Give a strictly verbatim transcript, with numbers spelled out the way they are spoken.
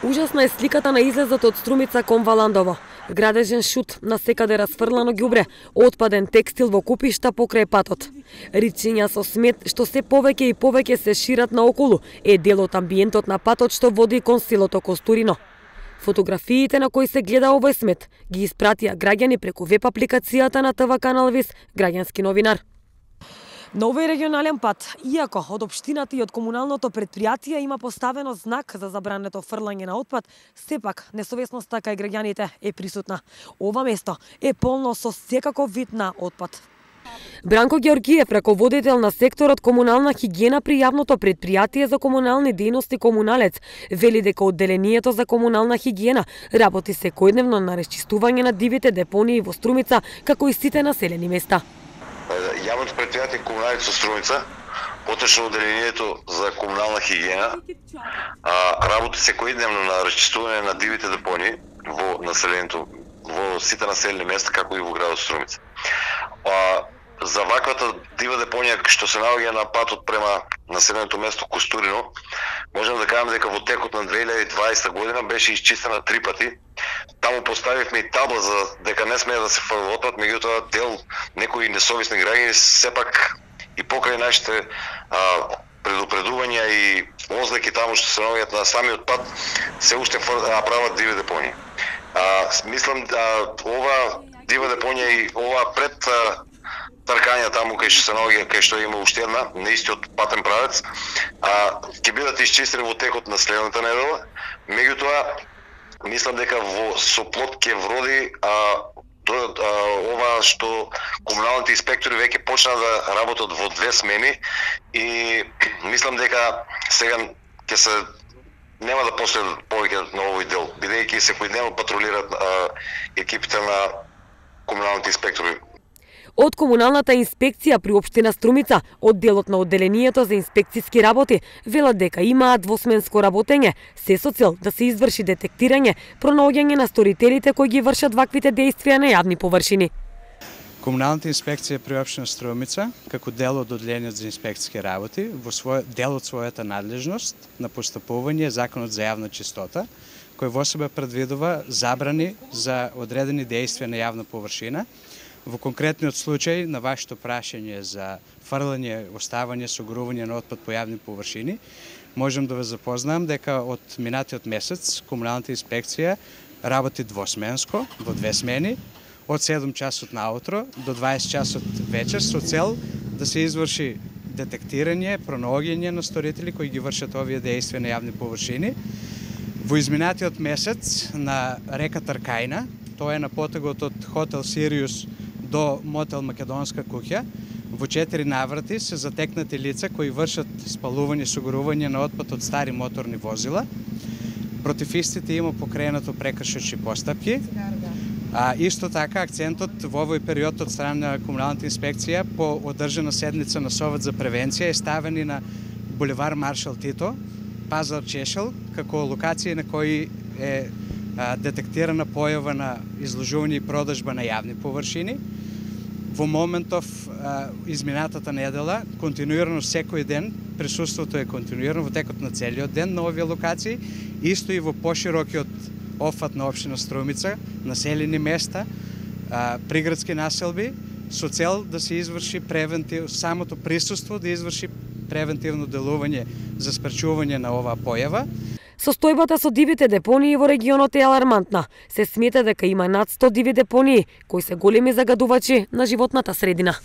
Ужасна е сликата на излезот од Струмица кон Валандово. Градежен шут, насекаде расфрлано ѓубре, отпаден текстил во купишта покрај патот. Ричиња со смет што се повеќе и повеќе се шират наоколу е дел од амбиентот на патот што води кон селото Костурино. Фотографиите на кои се гледа овој смет ги испратија граѓани преку веб апликацијата на ТВ канал Вис, граѓански новинар. На овој регионален пат, иако од општината и од комуналното предпријатие има поставено знак за забрането фрлање на отпад, сепак несовесноста кај граѓаните е присутна. Ова место е полно со секаков вид на отпад. Бранко Ѓоргиев, раководител на секторот комунална хигиена при јавното предпријатие за комунални дејности Комуналец, вели дека одделението за комунална хигиена работи секојдневно на расчистување на дивите депонии во Струмица, како и сите населени места. Јавното предпријатие Комуналец со Струмица, поточно одделението за комунална хигиена, работи секојдневно на расчистување на дивите депонии во населението, во сите населени места, како и во градот Струмица. За ваквата дива депонија што се наоѓа на патот према населеното место Костурино, можеме да кажеме дека во текот на две илјади и дваесета година беше исчистена три пати. Таму поставивме и табла за дека не смее да се фрли отпад, меѓутоа дел некои несовесни граѓани сепак и покрај нашите а, предупредувања и ознаки таму што се наоѓаат на самиот пат, се уште прават диви депонии. А, мислам да ова дива депонија и ова пред а, тркања таму кај што се наоѓа, кај што има уште една на истиот патен правец, а ќе бидат исчистени во текот на следната недела. Меѓутоа мислам дека во соплот ќе вроди а, до, а, ова што комуналните инспектори веќе почна да работат во две смени и мислам дека сега ќе се нема да последат повеќе на овој дел, бидејќи секојдневно патрулираат а, екипите на комуналните инспектори. Од комуналната инспекција при општина Струмица, од делот на одделението за инспекцијски работи, велат дека имаат двосменско работење, се со цел да се изврши детектирање, пронаоѓање на сторителите кои ги вршат ваквите дејствија на јавни површини. Комуналната инспекција при општина Струмица, како дел од одделението за инспекцијски работи, во свој дел од својата надлежност на постапување законот за јавна чистота, кој во себе предвидува забрани за одредени дејствија на јавна површина. Во конкретниот случај на вашето прашање за фрлање, оставање, согрување на отпад по јавни површини, можам да ве запознам дека од минатиот месец комуналната инспекција работи двосменско, во две смени, од седум часот наутро до дваесет часот вечер, со цел да се изврши детектирање, пронаоѓање на сторители кои ги вршат овие дејствија на јавни површини. Во изминатиот месец на река Тркајна, тоа е на потегот од хотел Сириус до мотел Македонска куќа, во четири наврати се затекнати лица кои вршат спалување и согрување на отпад од стари моторни возила. Против истите има покренато прекршочни постапки. А исто така акцентот во овој период од страна на комуналната инспекција по одржана седница на Совет за превенција е ставени на булевар Маршал Тито, Пазар Чешел, како локација на кои е детектирана појава на изложување и продажба на јавни површини. Во моментов, изминатата недела, континуирано секој ден, присуството е континуирано во текот на целиот ден на овие локации, исто и во поширокиот офат на општина Струмица, населени места, приградски населби, со цел да се изврши превентив, самото присуство да изврши превентивно делување за спречување на оваа појава. Состојбата со дивите депонии во регионот е алармантна. Се смета дека има над сто диви депонии, кои се големи загадувачи на животната средина.